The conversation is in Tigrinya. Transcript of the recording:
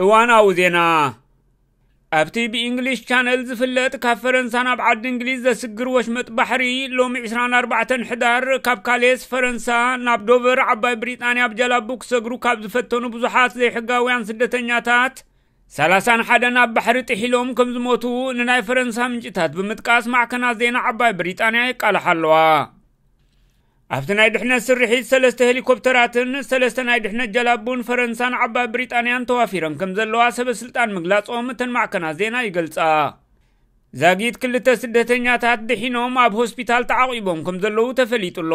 እዋናዊ ዜና። ኣብቲ ብእንግሊሽ ቻነል ዝፍለጥ ካብ ፈረንሳ ናብ ዓዲ እንግሊዝ ዘስግር ወሽመጥ ባሕሪ፣ ሎሚ ዕስራን ኣርባዕተን ሕዳር ካብ ካሌስ ፈረንሳ ናብ ዶቨር ዓባይ ብሪጣንያ ብጀላቡ ክሰግሩ ካብ ዝፈተኑ ብዙሓት ዘይሕጋውያን ስደተኛታት፣ ሰላሳን ሓደን ኣብ ባሕሪ ጥሒሎም ከም ዝሞቱ ንናይ ፈረንሳ ምንጭታት ብምጥቃስ ማዕከናት ዜና ዓባይ ብሪጣንያ የቃልሓ ኣለዋ። ኣብቲ ናይ ድሕነት ስርሒት ሰለስተ ሄሊኮፕተራትን ሰለስተ ናይ ድሕነት ጀላቡን ፈረንሳን ዓባይ ብሪጣንያን ተዋፊረን ከም ዘለዋ ሰበ ስልጣን ምግላጾም እተን ማዕከናት ዜና ይገልጻ። ዛጊት ክልተ ስደተኛታት ድሒኖም ኣብ ሆስፒታል ተዓቒቦም ከም ዘለዉ ተፈሊጡ ኣሎ።